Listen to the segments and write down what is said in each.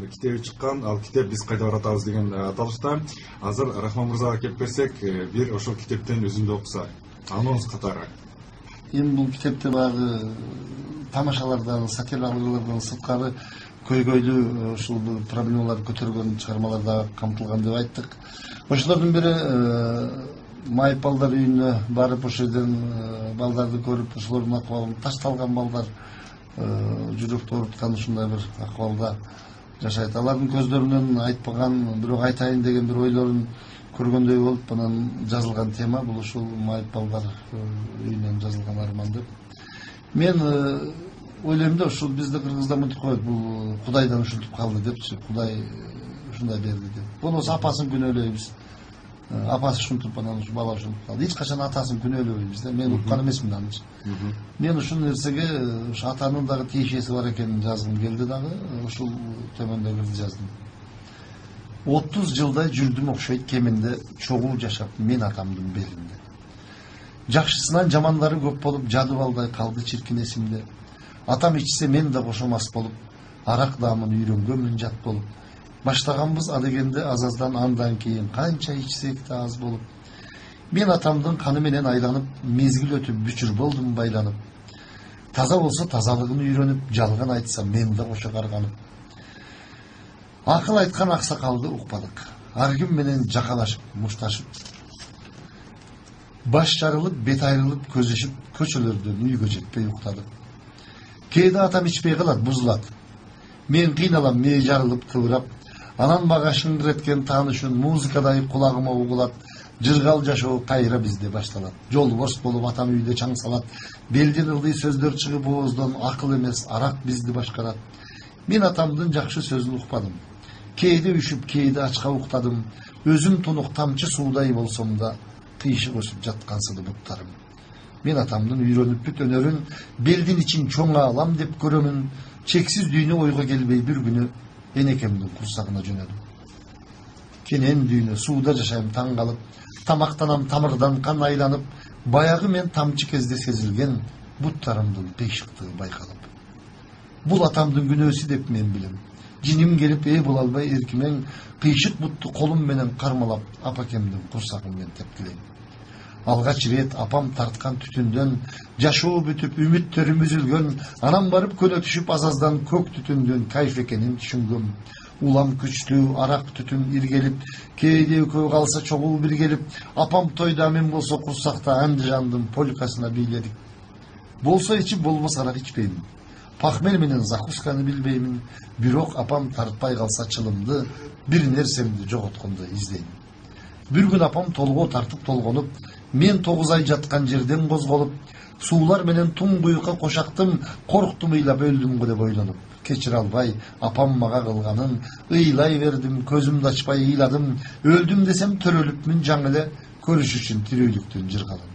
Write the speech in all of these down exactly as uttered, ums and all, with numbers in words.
китеби чыккан. Ал китеп биз кайда баратабыз деген аталышта. Азыр Рахман мырзага келип берсек, бир ошол китептен үзүндү окусак. Анонс катары. Эми бул китепте багы тамашалардан, сатиралардан сырткары көйгөйлүү ушул проблемалар көтөргөн чыгармалар да камтылган деп айттык. Ошолордун бири майып балдар үйүнө барып ошол жерден балдарды көрүп, ошолордун акыбалын ташталган балдар жүрөктү ооруткан ушундай бир акыбалда жашайт. Алардын көздөрүнөн айтпаган, бирок айтайын деген бир ойлорун көргөндөй болуп, анан жазылган тема бул ушул майып балдар үйүнөн жазылган арман деп. Мен ойлойм да, ушул бизде кыргызда мынтип коет, бул Кудайдан ушинтип калды депчи, Кудай ушундай берди деп. Болбосо апасын күнөөлөйбүз. Апасы ушинтип, анан ушу бала ушинтип калды. Эч качан атасын күнөөлөбөйбүз да. Мен уккан эмесмин аны. Мен ушул нерсеге ушу атанын дагы тиешеси бар экенин жазгым келди дагы, ушул төмөндөгүлдү жаздым. отуз жылдай жүрдүм окшойт кеминде, чогуу жашап мен атамдын белинде. Жакшысынан жамандары көп болуп, жады балдай калды чиркин эсимде. Атам ичсе мен да кошомас болуп, арак даамын үйрөнгөнмүн жат болуп. Баштаганбыз адегенде аз-аздан, андан кийин канча ичсек да аз болуп. Мен атамдын каны менен айланып, мезгил өтүп бүчүр болдум байланып. Таза болсо тазалыгын үйрөнүп, жалган айтса мен да кошо карганып. Акыл айткан аксакалды укпадык. Ар ким менен жакалашып, мушташып. Баш жарылып, бет айрылып, көзөшүп, көчөлөрдөн үйгө жетпей уктадык. Кээде атам ичпей калат, бузулат. Мен кыйналам, мээ жарылып, тыбырап. Анан мага шыңгыреткен таанышын музыкадай кулагыма угулат. Жыргал жашоо кайра бизде башталат. Жол борс болуп атам үйдө чаң салат. Белден ылдый сөздөр чыгып ооздон, акыл эмес арак бизди башкарат. Мен атамдын жакшы сөзүн укпадым. Кээде үшүп, кээде ачка уктадым. Өзүм тунук тамчы суудай болсом да, кыйшык өсүп жаткансыды буттарым. Мен атамдын үйрөнүп бүт өнөрүн, белдин ичин чоң алам деп көрөмүн. Чексиз дүйнө ойго келбей бир күнү энекемдин курсагына жөнөдүм. Кенен дүйнө сууда жашайм таң калып, тамактанам тамырдан кан айланып, баягы мен тамчы кезде сезилген буттарымдын кыйшыктыгы байкалып. Бул атамдын күнөөсү деп мен билем. Жиним келип ээ боло албай эркимен, кыйшык бутту колум менен кармалап, апакемдин курсагын мен тепкилейм. Алгач ирет апам тарткан түтүндөн, жашоо бүтүп үмүттөрүм үзүлгөн, анан барып көнө түшүп азаздан көк түтүндөн кайф экенин түшүнгөм. Улам күчтүү, арак түтүн иргелип, кээде экөө калса чогуу биргелип, апам тойда мен болсо курсакта Андижандын полкасына бийледик. Болсо ичип, болбосо арак ичпеймин. Пахмел менен закусканы билбеймин, бирок апам тартпай калса чылымды, бир нерсемди жоготкондой издейм. Бир күн апам толгоо тартып толгонуп, мен тогуз ай жаткан жерден козголуп, суулар менен туңгуюкка кошактым, корктум ыйлап өлдүмгө деп ойлонуп. Кечире албай апам мага кылганын, ыйлай бердим, көзүмдү ачпай ыйладым, өлдүм десем төрөлүпмүн жаңы эле, көрүш үчүн тирөөлүктүн жыргалын.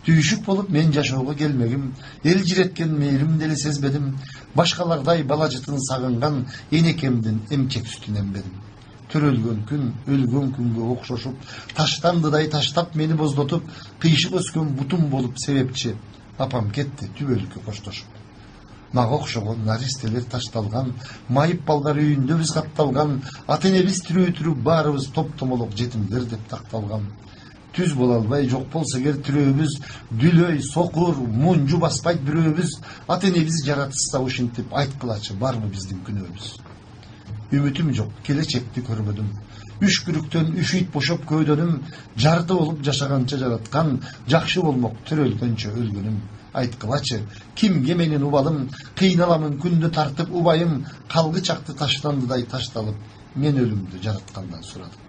Түйшүк болуп мен жашоого келмегим, эл жиреткен мээримди эле сезбедим, башкалардай бала жытын сагынган энекемдин эмчек сүтүн эмбедим. Төрөлгөн күн, өлгөн күнгө окшошуп, таштандыдай таштап мени боздотуп, кыйшык өскөн бутум болуп себепчи, апам кетти түбөлүккө коштошуп. Мага окшогон наристелер ташталган, майып балдар үйүндө биз катталган, ата-энебиз тирүү-тирүү баарыбыз топ-томолок жетимдер деп такталган. Түз боло албай жок болсо эгер тирөөбүз, дүлөй, сокур, мунжу баспайт бирөөбүз, ата-энебиз жаратышса ушинтип айткылачы барбы биздин күнөөбүз. Үмүтүм жок, келечекти көрбөдүм. Үшкүрүктөн үшүйт бошоп көөдөнүм, жарты болуп жашаганча жараткан, жакшы болмок төрөлгөнчө өлгөнүм. Айткылачы, кимге менин убалым, кыйналамын күндү тартып убайым, калгы чакты таштандыдай ташталып, мен өлүмдү жараткандан сурадым.